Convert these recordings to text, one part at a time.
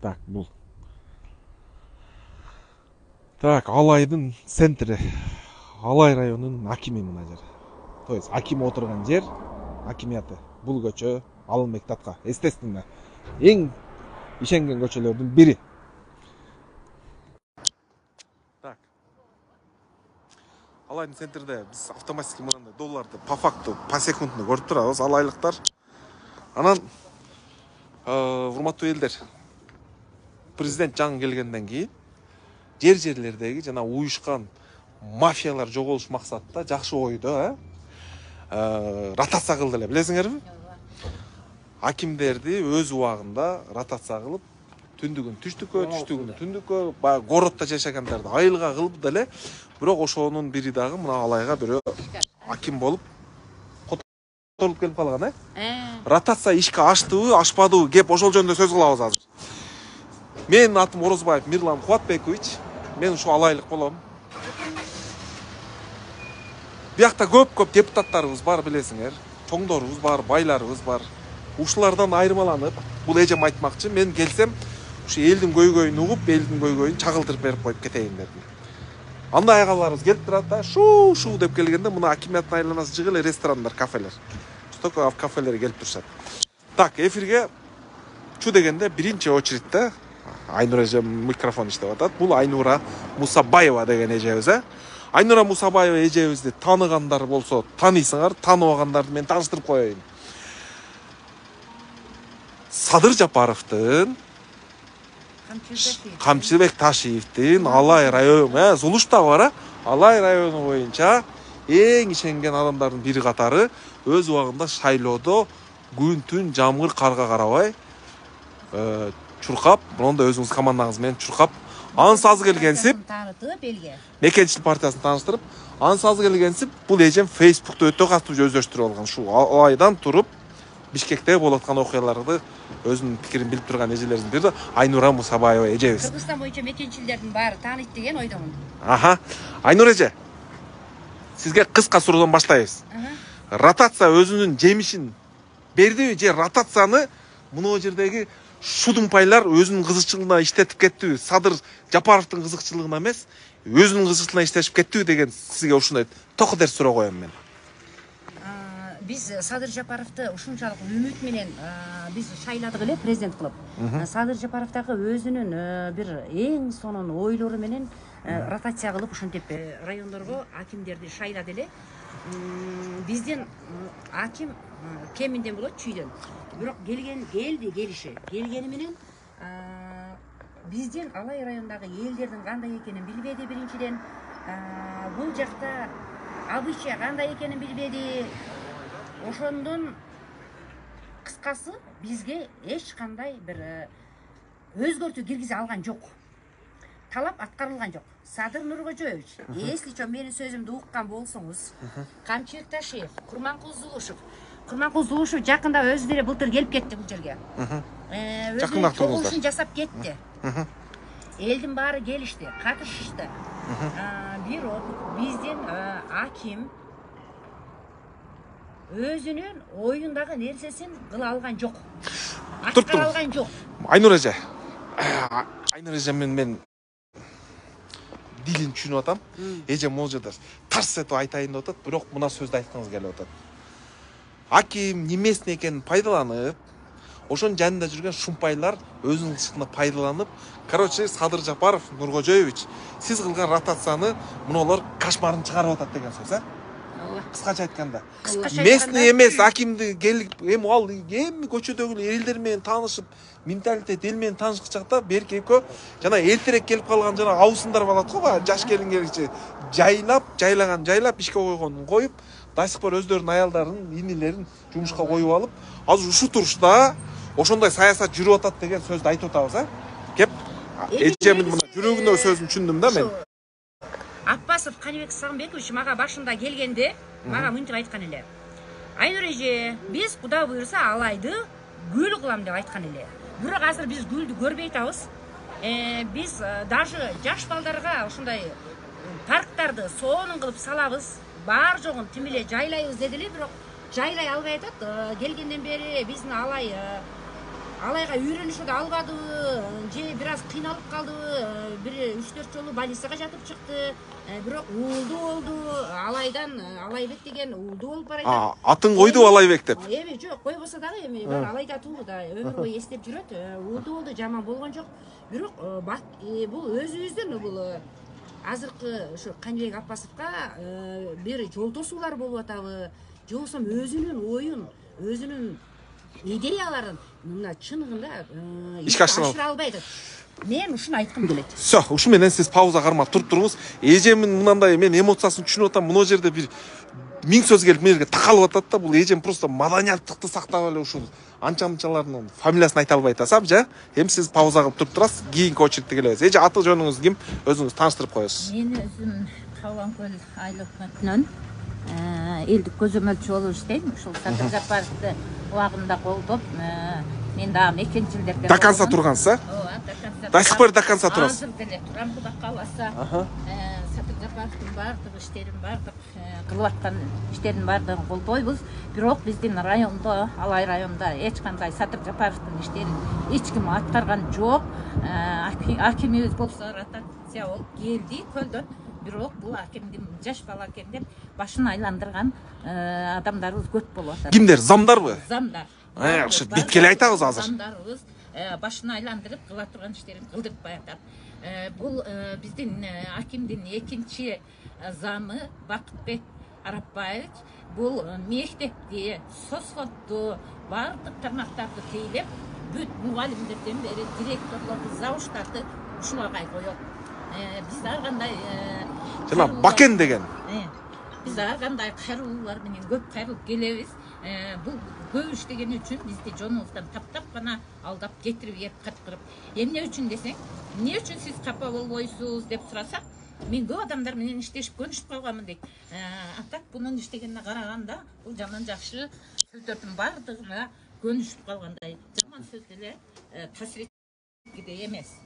Так, бул. Так, Алайдын центри. Алай районунун акими мына жер. То есть аким отурган жер, акимияты. Бул көчө Алымбек Татка. Естественно, эң ишенген көчөлөрдүн бири. Так. Алайдын центрде биз автоматически мындай долларды по факту, по секундну көрүп турабыз, алайлыктар. Анан урматтуу элдер, президент жаңы келгенден кийин жерлердеги жана уюшкан мафиялар жоголуш максатта жакшы ойдо, ротация кылды эле, билесиңерби? Акимдерди өз убагында ротация кылып, түндүгүн түштүккө, түштүгүн түндүккө, баягы городдо жашагандарды айылга кылып деле, бирок ошонун бири дагы мына Алайга бирөө аким болуп которулуп келип калган, Ротация ишке аштыбы, ашпадыбы, кеп ошол жөнүндө сөз кылабыз азыр. Менин атым Орозбаев Мирлан Кубатбекович, мен ушу алайлык болом. Биякта көп депутаттарыбыз бар, билесиңер. Чоңдорубуз бар, байларыбыз бар. Ушулардан айырмаланып, бул эжем айтмакчы, мен келсем, ушу элдин көйгөйүн угуп, элдин көйгөйүн чагылдырып берип коюп кетейин дедим. Анда айгаларыбыз келип турат да, шу деп келгенде мына акимияттын айланасы жыгы эле ресторандар, кафелер. Столько кафелер келип турушат. Так, эфирге чу дегенде биринчи очередте Айнура эже микрофон иштеп атат. Бул Айнура Мусабаева деген эжебиз, Айнура Мусабаева эжебизди тааныгандар болсо таанысыңар, тааныбагандарды мен тааныштырып коеюн. Садыр Жапаровдун, Камчыбек Ташиевдин Алай району, Зулушта бар, Алай району боюнча эң ишенген адамдардын бири катары өз убагында шайлоодо күн-түн жамгыр карга карабай чуркап, мында өзүңүз командаңыз менен чуркап, ансаз келгенсип, таанытып элге. Мекенчилик партиясын тааныштырып, ансаз келгенсип, бул эжем Facebook'та өтө катуу өздөштүрүп алган. Шу Алайдан туруп Бишкекте болуп аткан окуяларды өзүнүн пикирин билип турган эжелердин бири Айнура Мусабаева эжебиз. Кыргызстан боюнча мекенчилердин баары тааныйт деген ойдомун. Айнура эже, сизге кыска суроодон баштайбыз. Ротация өзүнүн жемишин бердиби же ротацияны мына жердеги шудумпайлар өзүнүн кызыкчылыгына иштетип кеттиби? Садыр Жапаровдун кызыкчылыгына эмес, өзүнүн кызыкчылыгына иштешип кеттиби деген сизге ушундай токодер суроо коем мен. Биз Садыр Жапаровду ушунчалык үмүт менен биз шайладык эле президент кылып. Садыр Жапаров дагы өзүнүн бир эң сонун ойлору менен ротация кылып ушинтип райондорго акимдерди шайлады эле. Бизден аким кеминден болот чүйдөн. Бирок келгени менен бизден Алай районундагы элдердин кандай экенин билбеди биринчиден. Бул жакта обычай кандай экенин билбеди. Ошондон кыскасы бизге эч кандай бир өзгөртүү киргизе алган жок. Талап аткарылган жок. Садыр Нуркожоевич, если чо менин сөзүмдү уккан болсоңуз, Камчыбек Ташиев, Курманкул Зулушев жакында өзү деле былтыр келип кетти бул жерге. Өзүнүн чогулушун жасап кетти. Элдин баары келишти, катышышты. Бирок бизден аким өзүнүн оюндагы нерсесин кыла алган жок. Аткара алган жок. Айнура эже мен дилин түшүнүп атам. Эже могул жерде тарс этип айтайын деп атат, бирок мына сөздү айткыңыз келип атат. Аким немесин экенин пайдаланып, ошонун жанында жүргөн шумпайлар өзүнүн кызыкчылыгына пайдаланып, короче, Садыр Жапаров Нуркожоевич, сиз кылган ротацияны мунулар кошмарын чыгарып атат деген сөз, кыскача айтканда. Местный эмес акимди келип, ал эми көчөдөгү элдер менен таанышып, менталитет эл менен таанышкы чакта берки экөө жана эртерээк келип калган жана абысындар болот го, баягы жаш келин келичи жайлап ишке койгонун коюп, до сих пор өздөрүнүн аялдарын, инилерин жумушка коюп алып, азыр ушу турушта ошондой саясат жүрүп атат деген сөздү айтып атабыз, Кеп, эжемдин мына жүрөгүнө сөзүн түшүндүм да мен. Аппасов Канибек Сагынбекович мага башында келгенде, мага мынтип айткан эле. Айнура эже, биз Куда буйрса Алайды гүл кылам деп айткан эле. Бирок азыр биз гүлдү көрбөй атабыз. Биз даже жаш балдарга ошондой парктарды сонун кылып салабыз. Бар жогун тим эле жайлайбыз деди эле, бирок жайлай албай атат. Келгенден бери биздин Алай алайга үйрөнүшүп албадыбы же бир аз кыйналып калдыбы, бир 3-4 жолу больницага жатып чыкты, бирок уулду болду. Алайдан Алайбек деген уулду болуп барат. Атын койду Алайбек деп. Эми жок, койбосо дагы эми Алайда туу да өмүр бою эстеп жүрөт. Уулду болду, жаман болгон жок. Бирок бул өзүбүздүн бул азыркы ушу Каныбек Аппасовго бир жолтосуулар болуп атабы, же болбосо өзүнүн оюн, өзүнүн идеяларын мына чыныгында ишке ашыра албайт. Мен ушуну айткым келет. Все, ушу менен сиз пауза кармап туруп туруңуз. Эжемдин мынандай мен эмоциясын түшүнүп атам. Мына жерде бир 1000 сөз келип мен жерге такалып атат да. Бул эжем просто маданияттыкты сактап эле ушул анча-мынчалардын фамилиясын айта албай атасам, жа. Эми сиз пауза кылып туруп турасыз. Кийинки очередте келебиз. Эже, аты жөнүңүз ким? Өзүңүз тааныштырып коесуз. Мен өзүм Каланкөл айыл өкмөтүнөн элдик көзөмөлчү болуп иштейм. Ушул Садыр Жапаровду убагында колдоп, мен дагы 2-жылдерде До конца тургансыз, а? Ооба, до конца. До сих пор до конца турасыз. Азыр деле турам, Кудай кааласа. Садыр Жапаровдун баардык иштерин, баардык кылып аткан иштерин баардыгын колдойбуз. Бирок биздин райондо, Алай районунда эч кандай Садыр Жапаровдун иштерин эч ким аткарган жок. Акимибиз болсо ротация болуп келди көлдөн. Бирок бул акимдин жаш бала экен деп башын айландырган адамдарыбыз көп болуп атат. Кимдер? Замдарбы? Замдар. Ушу биткеле айтабыз азыр. Замдарыбыз башын айландырып кыла турган иштерин кылдырып атат. Бул биздин акимдин экинчи замы Бакытбек Арапбаевич бул мектепти, сосходду, баардык тармактарды тейлеп, бүт мугалимдерден бери директорлорду, завуштарды ушуларга коет. Биз ар кандай Жана Бакен деген. Биз ар кандай кайрылуулар менен көп кайрылып келебиз. Бул көп иштеген үчүн бизди жонубуздан таптап гана алдап кетирип еп кыткырып. Эмне үчүн десең, эмне үчүн сиз капа болбойсуз деп сурасак, мен көп адамдар менен иштешип көнүшүп калганмын дейт. Атак бунун иштегенине караганда бул жаман жакшы сөздөрдүн баардыгына көнүшүп калгандай. Жаман сөз деле таасир эткен эмес.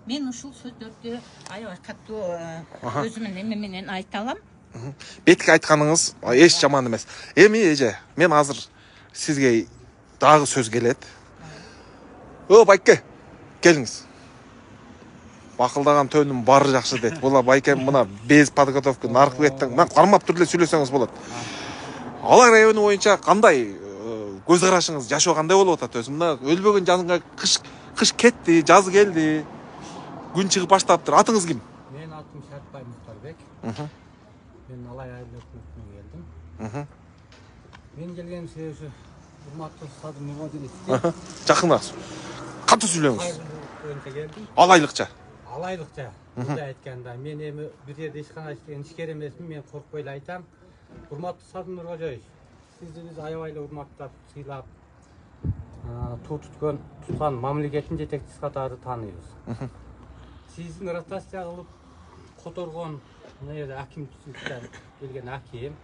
Мен ушул сөздөрдү аябай катуу өзүмдүн эме менен айта алам. Бетке айтканыңыз эч жаман эмес. Эми эже, мен азыр сизге дагы сөз келет. Байке, келиңиз. Бакылдаган төнүм баары жакшы дейт. Була байкем мына без подготовка наркы беттен мен кармап түрдө сүйлөсөңүз болот. Алай району боюнча кандай көз карашыңыз, жашоо кандай болуп атат өзү? Мына өлбөгөн жанга кыш кетти, жаз келди. Күн чыгып баштаптыр. Атыңыз ким? Мен атым Шартбай Муктарбек. Мен Алай айыл өкмөтүнөн келдим. Мен келген себеби урматтуу Садыр Нурматуллович. Жакынак. Катуу сүйлөңүз. Боюнча келдим. Алайлыкча. Алайлыкча. Мындай айтканда, мен эми бир жерде ишкана иштеген ишкер эмесмин, мен коркпой эле айтам. Урматтуу Садыр Нуркожоевич, сизди биз аябай эле урматтап, сыйлап, туткан мамлекеттин жетекчиси катары тааныйбыз. Сиздин ротация кылып которгон мына жерде акимчиликтен келген аким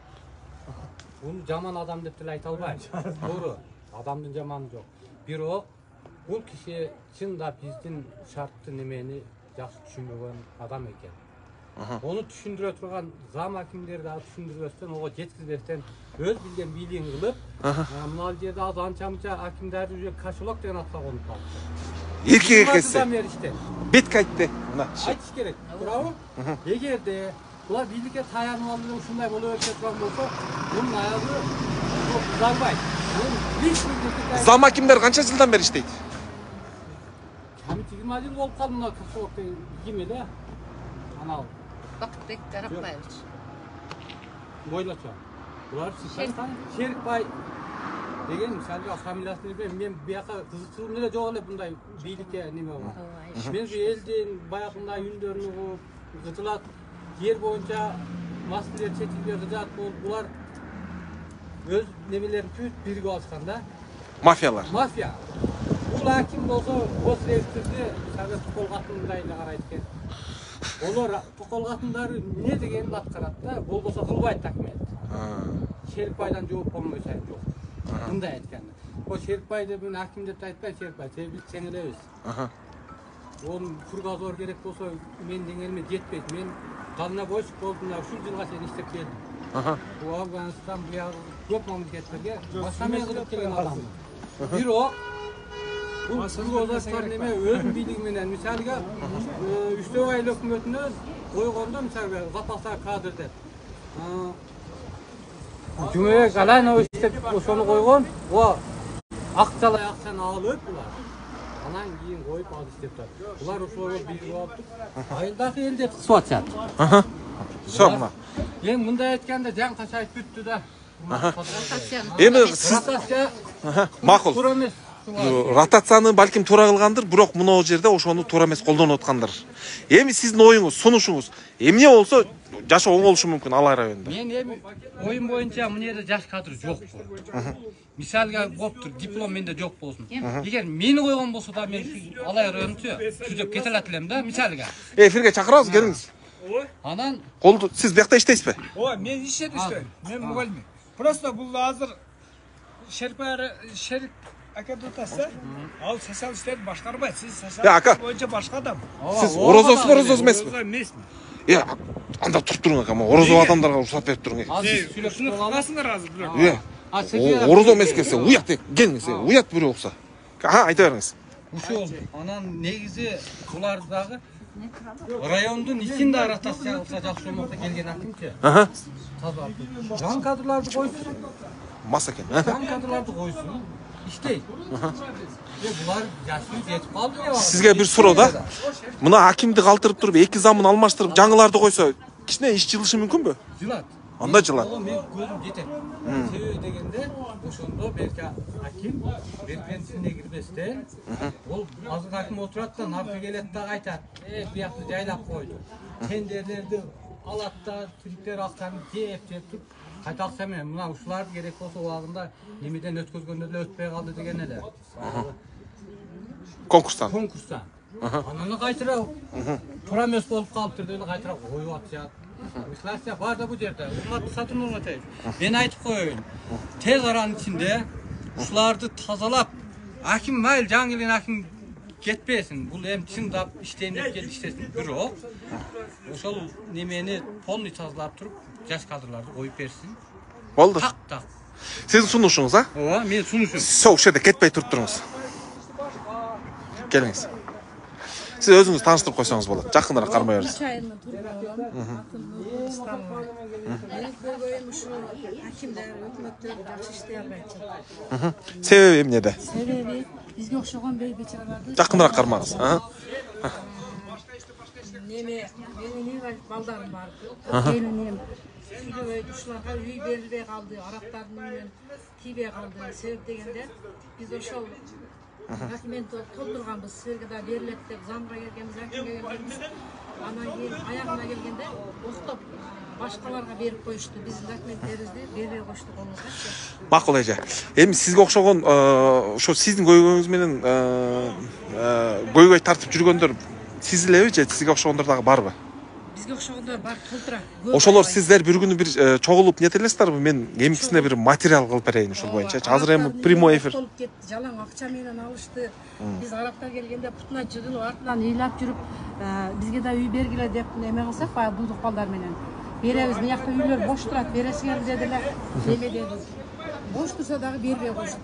бул жаман адам деп деле айта албайм. Туура, адамдын жаманы жок. Бирок бул киши чындап биздин шартты немени жакшы түшүнбөгөн адам экен. Onu түшүндүрө турган зам акимдерди түшүндүрбөстөн, ого жеткизбестен өз билген бийлигин кылып, мына жерде аз анча-мынча акимдер уже кошелок деген атка конуп калды. Эркек экенсиз. Бетке айтты. Мына. Айтыш керек. Туурабы? Эгерде булар бийликке таянып алып ушундай боло берсе турган болсо, бунун аягы узарбайт. Зам акимдер канча жылдан бери иштейт? Ками 20 жыл болуп калды мына кошелок деген ким эле? Анал Бакытбек Арапбаевич. Бойлочо. Булар Шерикбай деген мисалга фамилиясын билбейм. Мен бияка кызыкчылыгым эле жок эле мындай бийликке неме болот. Мен şu элдин баягындай үндөрүн угуп, кытылат жер боюнча маселелер чечилбей кыжаат болуп, булар өз немелерин бүт биригип алышканда. Мафиялар. Мафия. Бул аким болсо, госрегистрди Совет колгатындай эле карайт экен. Олар колгатындары эмне дегенин аткарат да, болбосо кылбайт акимет. Шерикбайдан жооп болмой сайын жок. Мындай айтканда. О Шерикбайды мен аким деп айтпайм, Шерикбай, биз тең элебиз. Onun furgazor gerek olsa men dengелме жетпейт. Мен дальнобойщик болдум, ушул жылга чейин иштеп келдим. Бул Афганистан бияк көп мамлекеттерге башка мен кылып келген адаммын. Бирок Бул сызгоозаттар неме өз бийлиги менен мисалга 3 ай өкмөтүнө койгондо мисалга запастар кадр деп. Cumhuriyet Galano işte ошону койгон. О акчалай акчаны алып булар. Анан кийин коюп ал иштеп турат. Булар ошого билип алып, айылдагы элде кысып атышат. Всё мына. Эми мындай айтканда жан качайып бүттү да. Эми сиз макул. Ротацияны балким туура кылгандыр, бирок мына жерде ошону туура эмес колдонуп аткандыр. Эми сиздин оюңуз, сунушуңуз эмне болсо жашоо оң болушу мүмкүн Алай районунда? Мен эми оюм боюнча мына жерде жаш кадр жокпу. Мисалга болуптур, диплом менде жок болсун. Эгер мени койгон болсо да мен Алай районунчу түзөп кете алат элем да, мисалга. Эфирге чакырабыз, келиңиз. Анан Колду сиз биякта иштейсизби? Ой, мен иштеп иштейм. Мен мугалим. Просто бул азыр шерик академиясы ал социал иштер башкарбайт. Сиз социал боюнча башка адам. Сиз орозосуз эмеспи? Эмесмин. Анда туруп туруң ака, орозо адамдарга уруксат берип туруң. Сүйлөшүп каласыңар азыр бирок. Орозо эмес келсе, уят деп келиңиз, уят бирөө окса. Айта бериңиз. ушул анан негизи булар дагы райондун ичинде ротация кылса жакшы болмокто келген акимчи. Жан кадрларды койсун. Мас экен. Жан кадрларды койсун. İşte. Булар жашы жетип калды. Сизге бир суроо да. Мына акимди калтырып туруп, эки замын алмаштырып, жаңыларды койсо, кичине иш жылышы мүмкүнбү? Жылат. Анда жылат. Мен көзүм жетет. Себеби дегенде, ошондо берки аким беркенсине кирбестен, ол азыр аким отурат да, наркы келет да айтат. Буякты жайлап койду. Тендерлерди алат да, тириктер акчаны жеп туруп кайта акча менен мына ушулар керек болсо убагында немеден өткөзгөндө эле өтпөй калды деген эле. Конкурстан. Анан кайтара туура эмес болуп калыптыр деп кайтара коюп атышат. Мислация бар да бу жерде. Урматтуу Сатыр Нурматаев. Мен айтып коеюн. Тез аранын ичинде ушуларды тазалап, аким майыл жаңы келген аким кетпесин. Бул эми чындап иштейм деп келип иштесин. Бирок ошол немени полный тазалап туруп, жаш кадрларды коюп берсин. Болду. Так. Сиздин сунушуңуз, а? Ооба, мен сунушум. Сол жерде кетпей туруп туруңуз. Келиңиз. Сиз өзүңүз тааныштырып койсоңуз болот. Жакыныраак кармай бериңиз. Чайынан акимдер, өкмөттөр жакшы иштей албайт. Себеби эмнеде? Себеби бизге окшогон бейбечаларды Жакыныраак кармаңыз. Неме, менин балдарым бар. Келиним ушуларга үй берилбей калды, араптардын үйүнөн тийбей калды. Себеп дегенде биз ошол документти толтурганбыз, силерге да берилет деп замга келгенбиз, акимге келгенбиз. Анан кийин аягына келгенде октоп башкаларга берип коюшту. Биздин документтерибизди бербей коюшту колуңузга. Макул эже. Эми сизге окшогон ошо сиздин көйгөйүңүз менен көйгөй тартып жүргөндөр сиз элеби же сизге окшогондор дагы барбы? Бизге окшогондор бар, толтура. Ошолор сиздер бир күнү бир чогулуп нетелесиздерби? Мен эмикисине бир материал кылып берейин ушул боюнча. Азыр эми прямой эфир. Жалаң акча менен алышты. Биз араптар келгенде путуна жыгылып артынан ыйлап жүрүп, бизге да үй бергиле деп неме кылсак, баягы булдук балдар менен беребиз. Биякта үйлөр бош турат, бересиңер дедилер. Неме деди. Бош турса дагы бербей коюшту.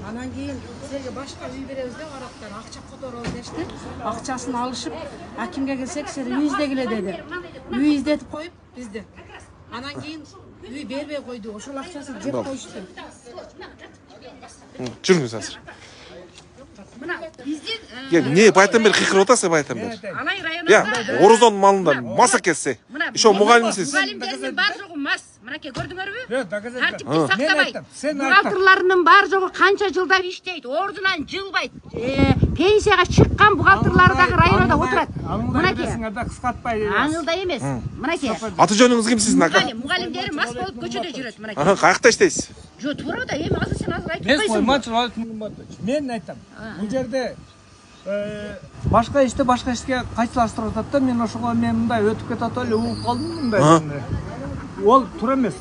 Анан кийин силерге башка үй беребиз деп араптар акча которобуз дешти. Акчасын алышып, акимге келсек, силер үй издегиле деди. Үй издетип коюп бизди. Анан кийин үй бербей койду. Ошол акчасын жеп коюшту. Жүрүңүз азыр. Мына биздин Не байттан бери кыйкырып атасыз, байттан бери. Алай районунда Орозон малында маса кетсе. Ошо мугалимсиз. Мугалимдердин бар жогу мас. Мынакей көрдүңөрбү? Тартипти Мен сактабайт. айттым, сен Бухгалтерларынын бар жогу канча жылдар иштейт, ордунан жылбайт. Пенсияга чыккан бухгалтерлар дагы районда отурат. Мынакей. да кыскартпай. Аңылда эмес. Мынакей. Аты жөнүңүз ким сиздин ака? Мугалимдери мас болуп көчөдө жүрөт, мынакей. Каякта иштейсиз? Жо, туура да, эми азыр сен азыр айтып койсуң. Мен айтам. Бул жерде башка ишке кайсылаштырып атат да, мен ошого мен мындай өтүп кетип эле угуп калдым мындай. Ол туура эмес.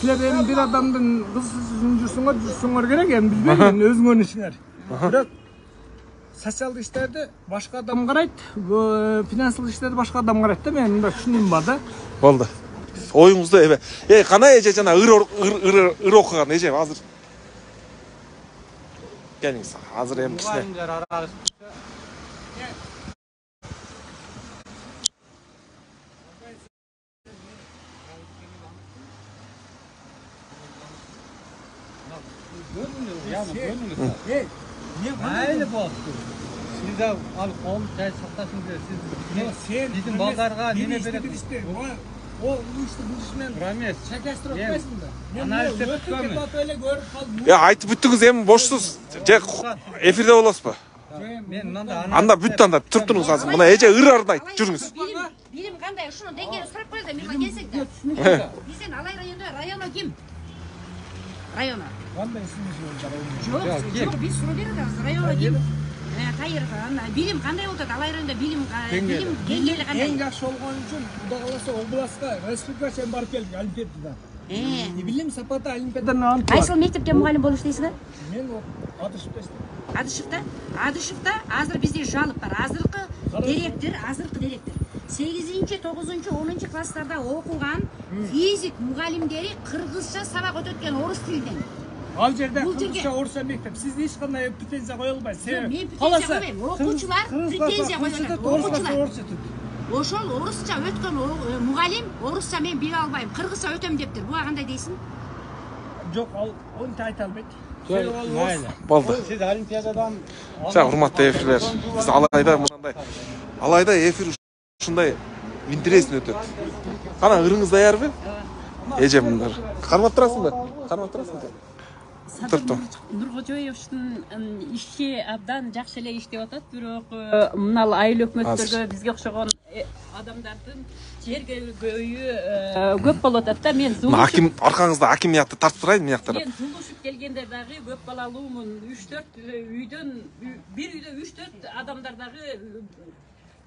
Силер эми бир адамдын кызын жүрсөңөр керек, эми билбейм, мен өзүңөрдүн ишиңер. Бирок социалдык иштерди башка адам карайт, финансылык иштерди башка адам карайт да, мен мындай түшүнүм бар да. Болду. Оюңузду кана эже жана ыр окуган эже азыр. Келиңиz. Азыр эми кичине. Мугалимдер аралашып Mayli bo'ldi. Siz de al qol çay saqtasın der. Siz bizim baldarga neme beredi? O bu işte bu işmen Rames. çakastırıp etmesin de. Analiz edip ötüp öyle görüp kaldım. Ya айтып бүттүңүз эми бошсуз. Же эфирде болосузбу? Men manda Анда бүттү анда туруп туруңуз азыр. Мына эже ыр-арын айтып жүрүңүз. Билим кандай ушуну деңгээлин сурап коелу да мен келсек да. Биздин Алай районунда районо ким? Районо. Кандай исмиңиз Жок, биз суроо берип атабыз. Районо ким? Кайыр, билим кандай болот? Алай районунда билим деңгээли кандай? Эң жакшы болгон үчүн Кудай кааласа областка республика чейин барып келдик олимпиадада. Билим сапаты олимпиаданы алып. Кайсыл мектепте мугалим болуш дейсиңби? Мен Адышевда иштейм. Адышевда азыр бизде жалып бар. Азыркы директор 8-9, 10 класстарда окуган физик мугалимдери кыргызча сабак өтөткөн орус тилинен. Ал жерде кыргызча орусча мектеп. Сизде эч кандай претензия коюла албайт. Мен претензия койбойм. Окуучулар претензия коюшат. Окуучулар. Ошол орусча өткөн мугалим орусча мен биле албайм, кыргызча өтөм дептир. Буга кандай дейсиң? Жок, ал онтип айта албайт. Mayli. Болду. Siz olimpiadadan Жа, урматтуу эфирлер. Биз Алайда мындай. Алайда эфир ушундай интересный өтөт. Кана ырыңыз даярбы? Эжемдер. Кармап турасыңбы? Кармап турасыңбы? Турупту. Нуркожоевичтин иши абдан жакшы эле иштеп атат, бирок мына айыл өкмөттөргө бизге окшогон адамдардын жерге көйү көп болуп атат да. Мен Аким аркаңызда акимиятты тартып турайын мыяктар. Мен зулушуп келгенде дагы көп балалуумун. 3-4 үйдөн бир үйдө 3-4 адамдар дагы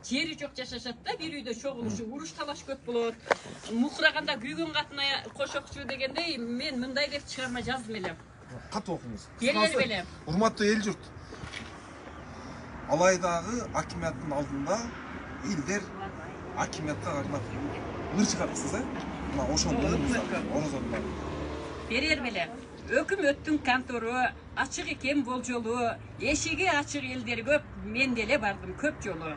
жери жок жашашат да. Бир үйдө чогулушуп уруш талаш көп болот. Мукураганда күйгөн катына кошокчу дегендей мен мындай деп чыгарма жаздым эле. Катып окуңуз. Беле. Урматтуу эл журт. Алайдагы акимияттын алдында элдер акимиятка кармап ыр чыгарыпсыз, Мына ошондо орозондо. Берер беле. Өкмөттүн контору ачык экен болжолу, эшиги ачык элдер көп, мен деле бардым көп жолу.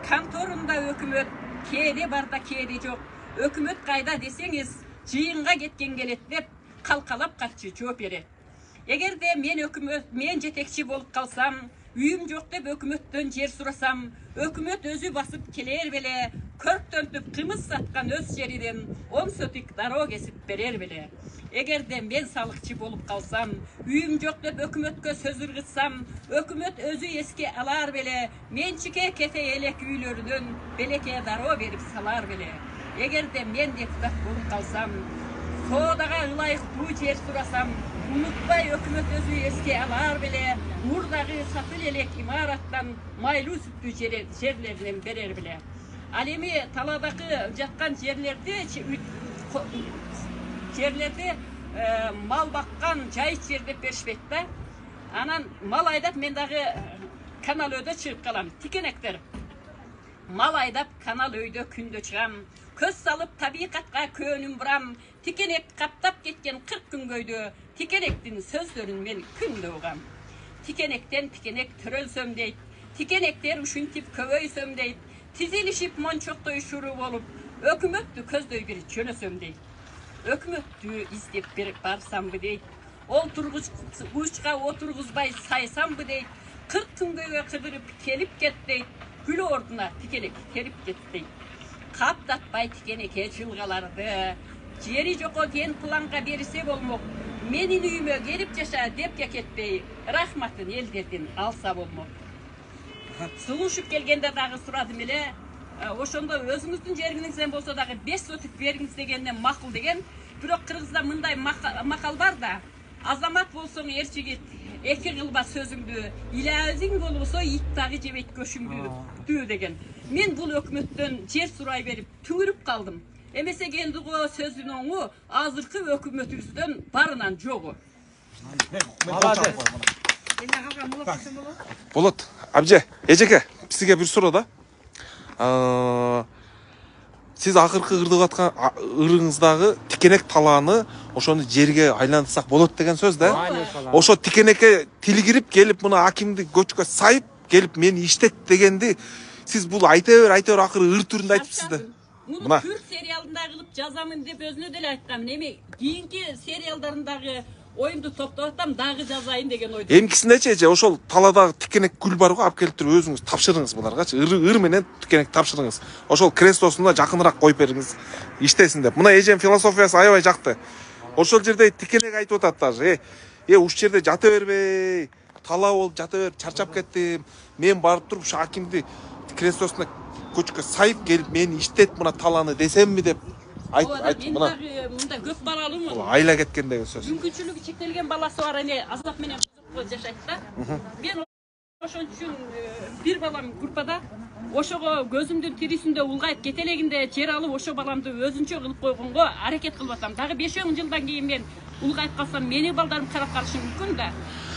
Конторунда өкмөт кээде бар да кээде жок. Өкмөт кайда десеңиз, жыйынга кеткен келет деп калкалап катчы жооп берет. Эгерде мен жетекчи болуп калсам, үйүм жок деп өкмөттөн жер сурасам, өкмөт өзү басып келер беле, көрктөнтүп кымыз саткан өз жеринен 10 сотик дароо кесип берер беле. Эгерде мен салыкчы болуп калсам, үйүм жок деп өкмөткө сөз ыргытсам, өкмөт өзү эске алар беле, менчике кете элек үйлөрүнөн белекке дароо берип салар беле. Эгерде мен депутат болуп калсам, соодага ылайыктуу жер сурасам, унутпай өкмөт өзү эске алар беле, мурдагы сатыл элек имараттан майлуу сүттүү жерлеринен берер беле. Ал эми таладагы жаткан жерлерди мал баккан жайыт жер деп беришпейт да. Анан мал айдап мен дагы канал өйдө чыгып калам. Тикенектер. Мал айдап канал өйдө күндө чыгам. Көз салып табиикатка көөнүм бурам. Тикенек каптап кеткен 40 күнгөйдө тикенектин сөздөрүн мен күндө угам. Тикенектен тикенек төрөлсөм дейт. Тикенектер ушинтип көбөйсөм дейт. Тизилишип мончоктой шуру болуп, өкмөттү көздөй бир жөнөсөм дейт. Өкмөттү издеп барсамбы дейт. Учка отургузбай сайсамбы дейт. 40 күнгөйгө кыдырып келип кет дейт. Күл ордуна тикенек келип кет дейт. Каптатпай тикенекке жылгаларды. Жери жoko ген планга берсе болмок. Менин үйүмө келип жаша деп кетпей, рахматын элдердин алса болмок. Сулушуп келгенде дагы сурадым эле, ошондо өзүңүздүн жериңизден болсо дагы 5 сотик бериңиз дегенден макул деген. Бирок кыргызда мындай макал бар да, азамат болсоң эр жигит, эки кылба сөзүңдү, илаазиң болбосо ит дагы жебейт көшүңдү деген. Мен бул өкмөттөн жер сурай берип түңүрүп калдым. Эмесе келди го сөздүн оңу азыркы өкмөтүбүздөн барынан жогу. Болот. Абже, эжеке, сизге бир суроо да. Сиз акыркы ырдып аткан ырыңыздагы тикенек талааны ошону жерге айлантсак болот деген сөз да. Ошо тикенекке тили кирип келип мына акимди көчкө сайып келип мени иштет дегенди сиз бул айта бер акыры ыр түрүндө айтыпсыз да. Муну Күр сериалында кылып жазамын деп өзүнө деле айткам. Эми кийинки сериалдарындагы оюмду топтоп атам, дагы жазайын деген ойдо. Эмкисиндечи эже ошол талаадагы тикенек гүл бар го, алып келип туруп өзүңүз тапшырыңыз буларгачы. Ыр менен тикенек тапшырыңыз. Ошол крестосуна жакыныраак коюп бериңиз, иштесин деп. Мына эжем философиясы аябай жакты. Ошол жерде тикенек айтып атат даже. Ушул жерде жата бербей, талаа болуп жата берип чарчап кеттим. Мен барып туруп ушу акимди крестосуна көчкө сайып келип мени иштет мына талааны десемми деп айт мына. Мында көп балалуумун. Бул айла кеткен деген сөз. Мүмкүнчүлүгү чектелген баласы бар, эне азап менен кызык жашайт да. Мен ошон үчүн бир балам группада ошого көзүмдүн тирисинде улгайып кете элегинде жер алып ошо баламды өзүнчө кылып койгонго аракет кылып атам. Дагы 5-10 жылдан кийин мен улгайып калсам менин балдарым карап калышы мүмкүн да.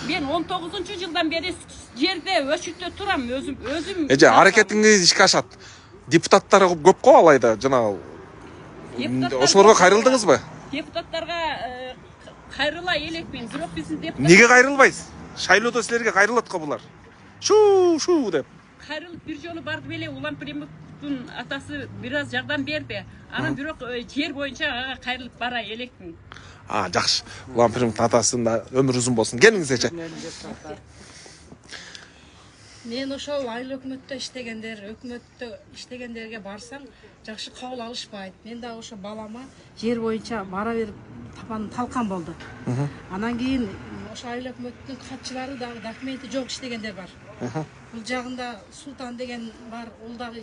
Мен 19-жылдан бери жерде өчүттө турам, өзүм. Эже аракетиңиз ишке ашат. Депутаттар көп го алайда жанагы. Ошолорго кайрылдыңызбы? Депутаттарга кайрыла элекмин, бирок биздин депутат. Неге кайрылбайсыз? Шайлоодо силерге кайрылат го булар. Шу деп. Кайрылып бир жолу барды беле, Улан Премовдун атасы бир аз жардам берди. Анан бирок жер боюнча ага кайрылып бара элекмин. Жакшы. Улан Премовдун атасында өмүр узун болсун. Келиңиз эже. Мен ошол айыл өкмөттө иштегендерге барсам жакшы кабыл алышпайт. Мен да ошо балама жер боюнча бара берип талкан болду. Анан кийин ошо айыл өкмөттүн катчылары дагы документи жок иштегендер бар. Бул жагында Султан деген бар, ол дагы